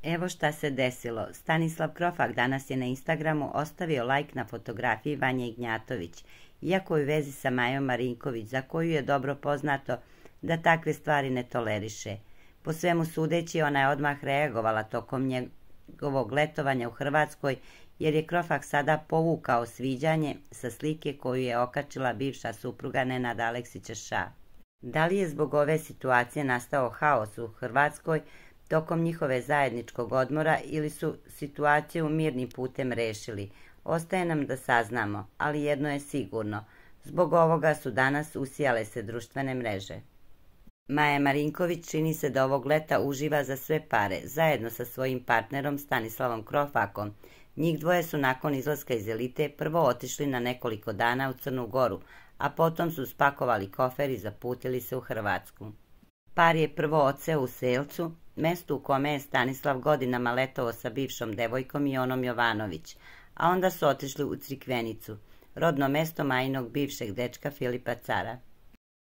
Evo šta se desilo. Stanislav Krofak danas je na Instagramu ostavio lajk na fotografiji Vanje Ignjatović, iako je u vezi sa Majom Marinković, za koju je dobro poznato da takve stvari ne toleriše. Po svemu sudeći, ona je odmah reagovala tokom njegovog letovanja u Hrvatskoj, jer je Krofak sada povukao sviđanje sa slike koju je okačila bivša supruga Nenada Aleksića Ša. Da li je zbog ove situacije nastao haos u Hrvatskoj tokom njihove zajedničkog odmora ili su situaciju mirnim putem rešili? Ostaje nam da saznamo, ali jedno je sigurno. Zbog ovoga su danas usijale se društvene mreže. Maja Marinković čini se da ovog leta uživa za sve pare, zajedno sa svojim partnerom Stanislavom Krofakom. Njih dvoje su nakon izlaska iz Elite prvo otišli na nekoliko dana u Crnu Goru, a potom su spakovali kofer i zaputili se u Hrvatsku. Par je prvo odseo u Selcu, mestu u kome je Stanislav godinama letovao sa bivšom devojkom Jonom Jovanović, a onda su otišli u Crikvenicu, rodno mesto Majinog bivšeg dečka Filipa Cara.